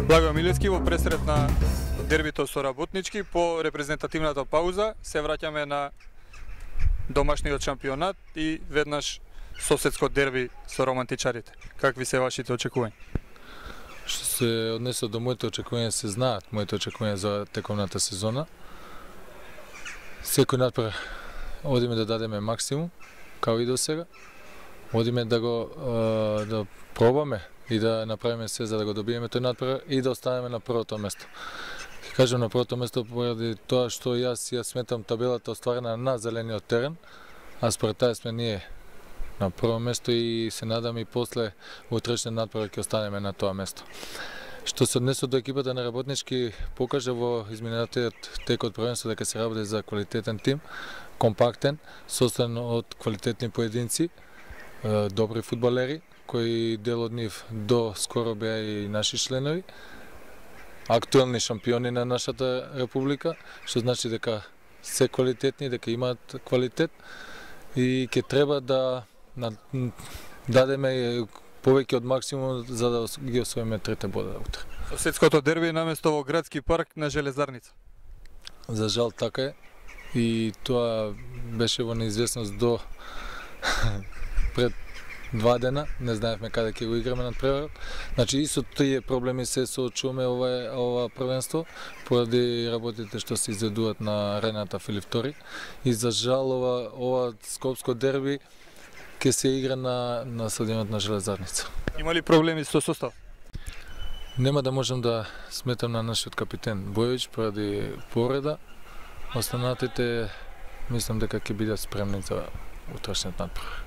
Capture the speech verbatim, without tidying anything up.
Благо Милевски во пресрет на дербито со Работнички по репрезентативната пауза се враќаме на домашниот шампионат и веднаш соседско дерби со романтичарите. Какви се вашите очекувања? Што се однесе до моите очекувања, се знаат моите очекувања за тековната сезона. Секој надпревар одиме да дадеме максимум, као и до сега. Одиме да го да пробаме и да направиме се за да го добиеме тој надпревар и да останеме на првото место. Кажам на првото место поради тоа што јас ја сметам табелата остварена на зелениот терен, а според таа сме ние на прво место и се надам и после утрешниот надпревар ќе останеме на тоа место. Што се однесе до екипата на Работнички, покажа во изминатиот тек од првенство дека се работи за квалитетен тим, компактен, составен од квалитетни поединци, добри фудбалери, кои дел од нив до скоро беа и наши членови, актуелни шампиони на нашата република, што значи дека се квалитетни, дека имаат квалитет и ќе треба да дадеме повеќе од максимум за да ги освоиме трите бода утре. Соседското дерби наместо во градски парк на Железарница. За жал така е и тоа беше во неизвестност до пред два дена, не знаевме каде ќе го играме надпреварот. Значи и со тие проблеми се соочуваме ова ова првенство поради работите што се изведуваат на арената Филип втори и за жал ова ова скопско дерби ќе се игра на на стадионот на Железарница. Има ли проблеми со состав? Нема да можам да сметам на нашиот капитен Бојовиќ поради повреда. Останатите мислам дека ќе бидат спремни за утрешниот надпревар.